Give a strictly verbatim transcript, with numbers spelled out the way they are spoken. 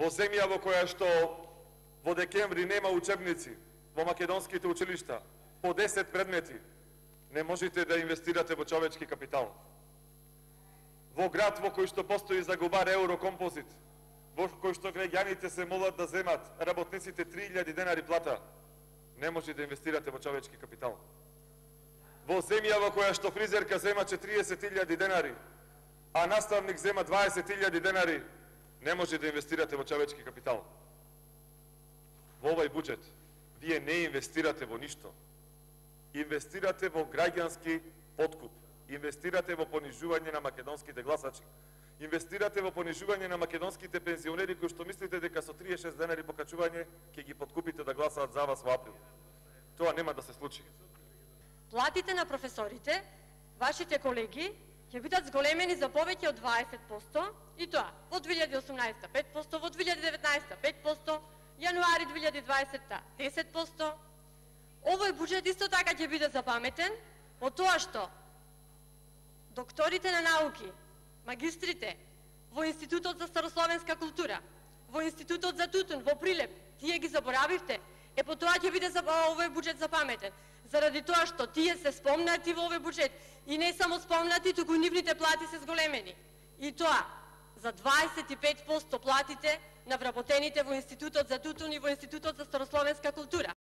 Во земја во која што во декември нема учебници, во македонските училишта, по десет предмети, не можете да инвестирате во човечки капитал. Во град во кој што постои загубар Еврокомпозит, во кој што граѓаните се молат да земат работниците три илјади денари плата, не може да инвестирате во човечки капитал. Во земја во која што фризерка зема четириесет илјади денари, а наставник зема дваесет илјади денари, не може да инвестирате во човечки капитал. Во овој буџет вие не инвестирате во ништо. Инвестирате во граѓански подкуп. Инвестирате во понижување на македонските гласачи. Инвестирате во понижување на македонските пензионери кои што мислите дека со триесет и шест денари покачување ќе ги подкупите да гласаат за вас во април. Тоа нема да се случи. Платите на професорите, вашите колеги, ќе бидат зголемени за повеќе од дваесет проценти и тоа во две илјади и осумнаесета пет проценти, во две илјади и деветнаесета пет проценти, јануари две илјади и дваесета десет проценти. Овој буџет исто така ќе биде запаметен по тоа што докторите на науки, магистрите во Институтот за старословенска култура, во Институтот за тутун, во Прилеп, тие ги заборавивте, е по тоа ќе биде овој буџет запаметен. Заради тоа што тие се спомнати во овој буџет и не само спомнати, туку нивните плати се зголемени. И тоа за дваесет и пет проценти платите на вработените во Институтот за тутун и во Институтот за старословенска култура.